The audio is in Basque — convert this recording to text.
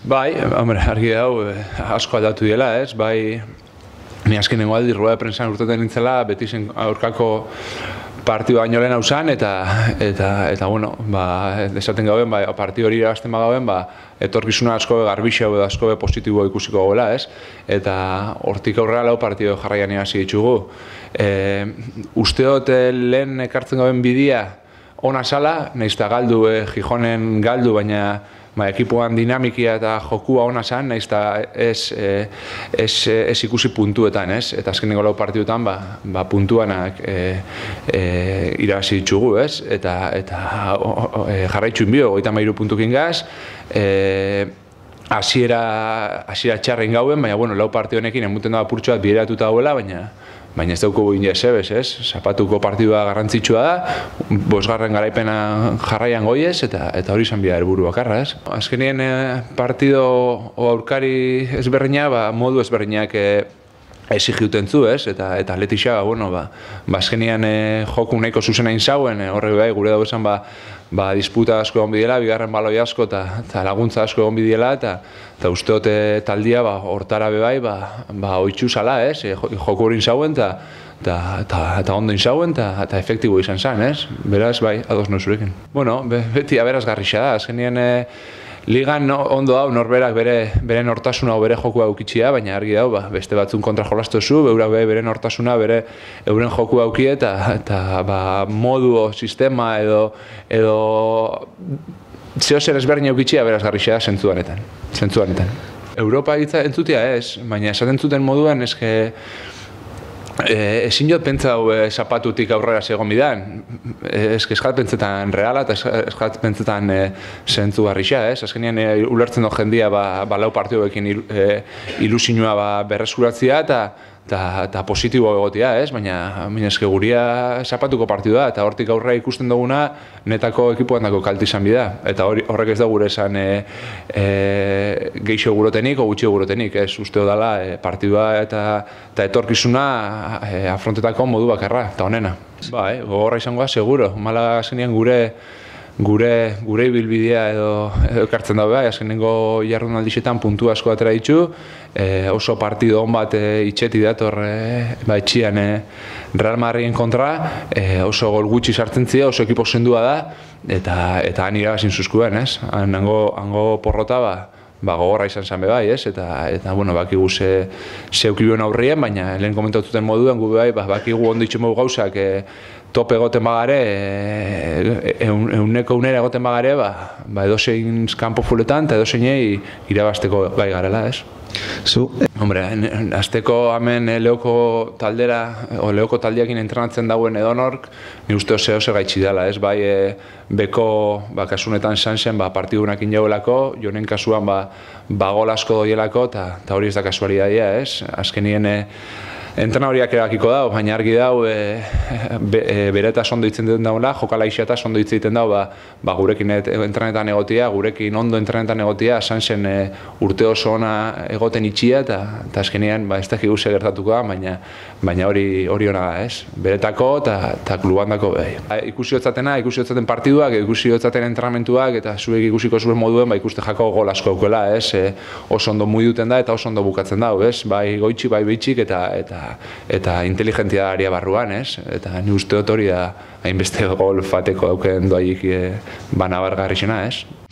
Bai, hombre, argi dau, asko aldatu dela, ez? Bai, ni azkenengo aldi rueda de prensan urteten nintzela, beti zen aurkako partidu baino lehen hausan, eta bueno, esaten gauen, partidu hori irabazten bagauen, etorkizuna asko garbixau edo asko positibo ikusiko goela, ez? Eta hortik aurrera lau partidu jarraian hasi ditugu. Uste dut lehen ekartzen gauen bidea ona sala, nahiz eta galdu, Gijonen galdu, baina ekipoan dinamikia eta jokua ona zan, nahiz eta ez ikusi puntuetan, ez? Eta azkeneko lau partiduetan puntuanak irabazi ditugu, ez? Eta jarraitxuin bio, 33 puntukin gaz, hasiera txarren gauen, baina lau partidu honekin emuten da apurtxo bat bideratuta dauela, baina ez dauko guin jesebez, ez? Zapatuko partidua garrantzitsua da, 5. garaipena jarraian goiez, eta hori izan bida helburu bakarra, ez? Azkenien partido aurkari ezberdina, modu ezberdinak exigiuten zu, ez? Eta Atletixa, azkenian joku nahiko zuzena inzauen, horrek bai, gure dago esan, disputa asko egon bidela, bigarren baloi asko eta laguntza asko egon bidela, eta usteote taldia hortara bebai, oitxu zala, ez? Joku hori inzauen, eta ondo inzauen, eta efektibo izan zen, ez? Beraz, bai, ados nozurekin. Bueno, beti aberazgarrixa da, azkenien ligan ondo hau norberak bere nortasuna o bere jokua aukitxia, baina argi dau, beste batzun kontra jolastu zu, beurak bere nortasuna, euren jokua auki eta modu o sistema edo zeo zer ezberdin aukitxia berazgarrixa da zentzuanetan. Europa entzutia ez, baina esaten zuten moduan eske ezin jot pentsau zapatutik aurrera segon bidan. Eskat pentsetan reala eta eskat pentsetan zentzu garrixa, ez? Azkenean ulertzen dut jendia lau partiduekin ilusinua berreskuratzea eta positibo egotia, ez? Baina eske guria zapatuko partidua eta hortik aurrera ikusten duguna netako ekipoan dako kalti izan bida. Eta horrek ez da gure esan geixo gurotenik o gutxio gurotenik, ez? Usteo dela partidua eta etorkizuna afrontetako modu bakarra, eta honena. Gogorra izangoa, seguro. Malaga azkenean gure ibilbidea edo ekartzen dago, azkenengo jardunaldixetan puntu asko atera ditu, oso partido hon bat itxeti dator etxian Real Madriden kontra, oso gol gutxi sartzen zia, oso ekipo sendua da, eta han irabazin zuzkuen, ez? Hango porrota gogorra izan zen bebai, ez? Eta bakigu zeukibuen aurrien, baina lehen komentatuten moduen gu bebai, bakigu ondo itxemo gauzak tope egoten bagare, euneko unera egoten bagare, edozein kanpo fuletan eta edozeinei irabazteko gai garela, ez? Hombre, azteko hemen Leoko taldera, o Leoko taldeakin entrenatzen dauen edonork, ni uste zeo zer gaitxi dela, ez? Bai, beko, kasunetan sanzen, partidunakin jauelako, jonen kasuan, gol asko doielako, eta hori ez da kasualidadia, ez? Azkenien entrenadoriak erabakiko dau, baina argi dau bere eta ondo ditzen duten daula, jokala isa ondo ditzen dau, gurekin entrenetan egotia, gurekin ondo entrenetan egotia, sanzen urte oso ona egoten itxia, eta azkenean ez da guse gertatuko da, baina hori ona da, ez? Beretako eta klubandako behi. Ikusi hotzaten partiduak, ikusi hotzaten entrenamentuak, eta zuek ikusiko zuen moduen, ikuste jako gol asko aukela, ez? Oso ondo muiduten da, eta oso ondo bukatzen dau, ez? Bai goitxik, bai behitxik, eta inteligentia aria barruan, ez? Eta ni uste dut hori da hainbeste gol fateko dauken doaik banabargarri zena, ez?